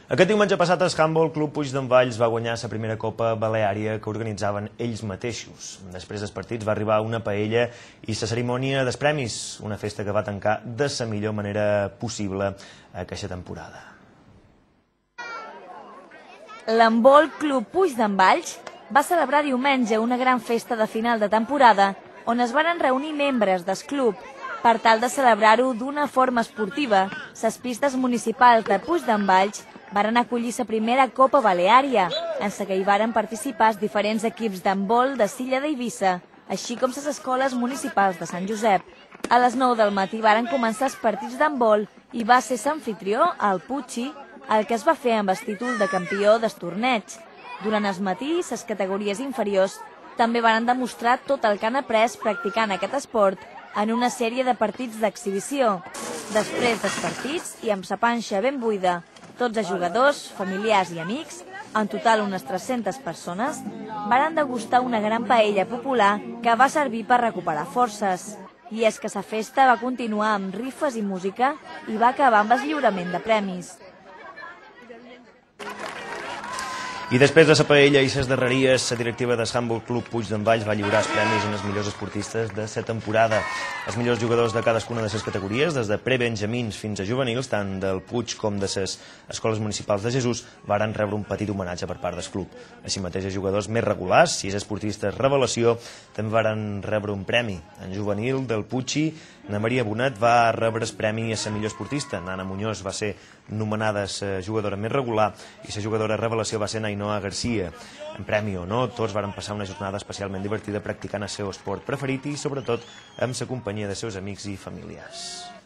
Aquest diumenge passat el Handball Club Puig d'en Valls va guanyar la primera Copa Baleària que organitzaven ells mateixos. Després dels partits va arribar una paella i la cerimònia dels premis, una festa que va tancar de la millor manera possible aquesta temporada. L'Handball Club Puig d'en Valls va celebrar diumenge una gran festa de final de temporada on es varen reunir membres del club per tal de celebrar-ho d'una forma esportiva. Les pistes municipals de Puig d'en Valls varen acollir la primera Copa Baleària, en la que hi varen participar els diferents equips d'handbol de Silla d'Eivissa, així com les escoles municipals de Sant Josep. A les 9 del matí varen començar els partits d'handbol i va ser l'amfitrió, el Puig, el que es va fer amb el títol de campió del torneig. Durant el matí, les categories inferiors també varen demostrar tot el que han après practicant aquest esport en una sèrie de partits d'exhibició. Després dels partits, i amb la panxa ben buida, tots els jugadors, familiars i amics, en total unes 300 persones, varen degustar una gran paella popular que va servir per recuperar forces. I és que la festa va continuar amb rifes i música i va acabar amb el lliurament de premis. I després de la paella i les darreries, la directiva del Handball Club Puig d'en Valls va lliurar els premis als millors esportistes de la temporada. Els millors jugadors de cadascuna de les categories, des de prebenjamins fins a juvenils, tant del Puig com de les escoles municipals de Jesús, varen rebre un petit homenatge per part del club. Així mateix, els jugadors més regulars, 6 esportistes revelació, també varen rebre un premi. En juvenil del Puig, na Maria Bonet va rebre el premi a la millor esportista. Nana Muñoz va ser nomenada la jugadora més regular i la jugadora revelació va ser Ainhoa Garcia. En premi o no, tots varen passar una jornada especialment divertida practicant el seu esport preferit i, sobretot, amb la companyia de seus amics i familiars.